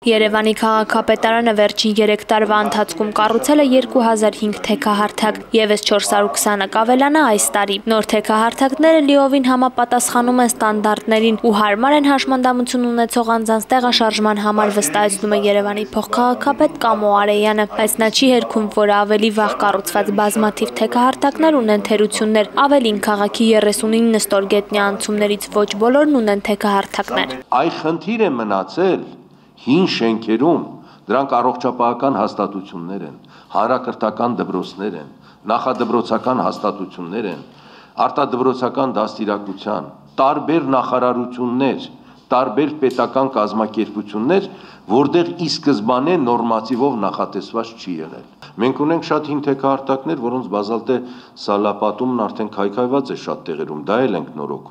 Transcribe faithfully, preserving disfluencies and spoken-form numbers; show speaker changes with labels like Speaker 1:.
Speaker 1: Երևանի քաղաքապետարանը վերջին երեք տարվա ընթացքում կառուցել է երկու հազար հինգ թեքահարթակ, ևս չորս հարյուր քսանը կավելանա այս տարի։ Նոր թեքահարթակները լիովին համապատասխանում են ստանդարտներին ու հարմար են հաշմանդամություն ունեցող անձանց տեղաշարժման համար, վստահեցնում է Երևանի փոխքաղաքապետ Կամո Արեյանը, բայց նա չի հերքում, որ ավելի վաղ կառուցված բազմաթիվ թեքահարթակներ ունեն թերություններ, ավելին քաղաքի երեսունինը ստորգետնյա անցումներից ոչ բոլորն ունեն թեքահարթակներ։
Speaker 2: Այ խնդիր է մնացել հին շենքերում, դրանք առողջապահական հաստատություններ են, հանրակրթական դպրոցներ են, նախադպրոցական հաստատություններ են, արտադպրոցական դաստիարակության, տարբեր նախարարություններ, տարբեր պետական կազմակերպություններ, որտեղ ի սկզբանե նորմատիվով նախատեսված չի եղել։ Մենք ունենք շատ հին թեքահարթակներ, որոնց բազալտե սալապատումն արդեն քայքայված է շատ տեղերում, դա էլ ենք նորոգում։